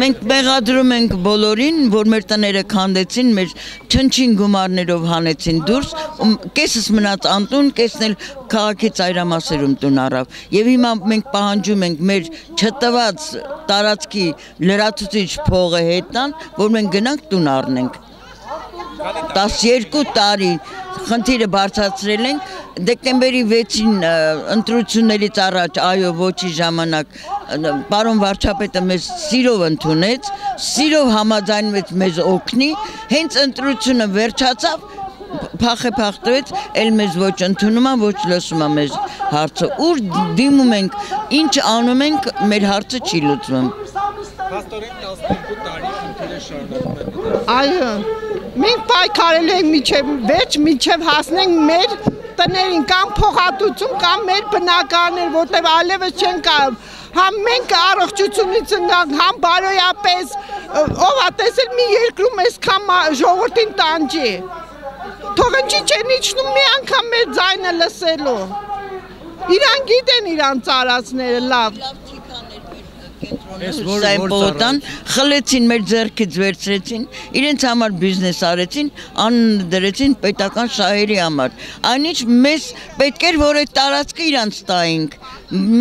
Մենք մեղադրում ենք բոլորին, որ մեր տները քանդեցին, մեր չնչին գումարներով հանեցին դուրս, կեսս մնաց անտուն, կեսն էլ քաղաքի ծայրամասերում տուն առավ։ Եվ հիմա մենք պահանջում ենք մեր չտված տարածքի լրացուցիչ փողը հետ տան, որ մենք գնանք տուն առնենք։ 12 տարի խնդիրը բարձրացրել ենք, դեկտեմբերի 6-ին ընտրություններից առաջ այո ոչի ժամանակ պարոն վարչապետը մեզ սիրով ընդունեց, սիրով համաձայնվեց մեզ օգնի, հենց ընտրությունը վերջացավ, փախտվեց, էլ մեզ ոչ ընդունում է, ոչ լսում է մեզ հարցը, ուր դիմում ենք, ինչ անում ենք, մեր հարցը չի լուծվում։ Փաստորեն 12 տարի խնդիրը շարունակվում է։ Այո, մենք պայքարել ենք մինչև հասնենք մեր տներին կամ փոխհատուցում կամ մեր բնակարաններ, որտեղ այլևս չեն կարող, համ մենք առողջությունից ընկանք, համ բարոյապես, ով է տեսել մի երկրում այսքան ժողովրդին տանջի, թող ինչի չեն իջնում մի անգամ մեր ձայնը լսելու, իրան գիտեն իրան ծառացները լավ։ Սայմպոտան խլեցին մեր ձեռքից վերցրեցին, իրենց համար բիզնես արեցին, անունը դրեցին պետական շահերի համար։ Այնինչ մեզ պետք էր, որ այդ տարածքը իրանց տայինք,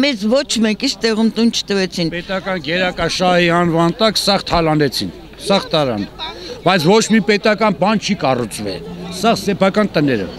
մեզ ոչ մեկից տեղում տուն չտվեցին։ Պետական գերակաշահի անվան տակ սաղ թալանեցին, սաղ տարան, բայց ոչ մի պետական բան չի կառուցվել, սաղ սեփական տները։